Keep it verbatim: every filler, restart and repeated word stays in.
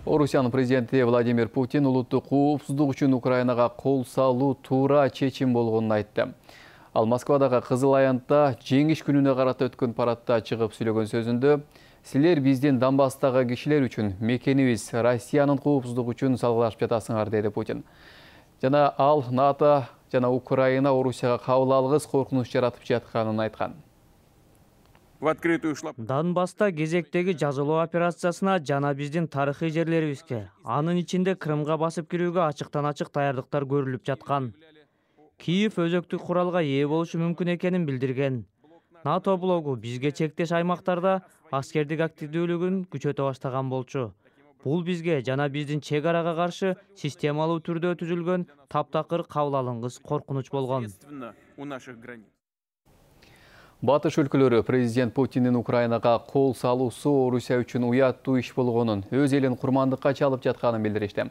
Орусиянын президенти Владимир Путин улуттук коопсуздук үчүн Украинага кол салуу туура чечим болгонун айтты. Ал Москвадагы Кызыл Аянтта жеңиш күнүнө карата өткөн парадта чыгып сүйлөгөн сөзүндө «Силер биздин Донбасстагы кишилер үчүн, мекенибиз Россиянын коопсуздугу үчүн салгылашып жатасыңар», деди Путин. Жана ал НАТО жана Украина Орусияга кабыл алгыс коркунуч жаратып жатканын айткан. Донбасста кезектеги жазалоо операциясына жана биздин тарыхый жерлерибизге, анын ичинде Крымга басып кирүүгө ачыктан-ачык даярдыктар көрүлүп жаткан. Киев өзөктүк куралга ээ болушу мүмкүн экенин билдирген. НАТО блогу бизге чектеш аймактарда аскердик активдүүлүгүн күчөтө баштаган болчу. Бул бизге жана биздин чек арага каршы системалуу түрдө түзүлгөн таптакыр кабыл алынгыс коркунуч болгон. Батыш өлкөлөрү президент Путиндин Украинага кол салуусу Орусия үчүн уяттуу иш болгонун, өз элин курмандыкка чалып жатканын билдиришти.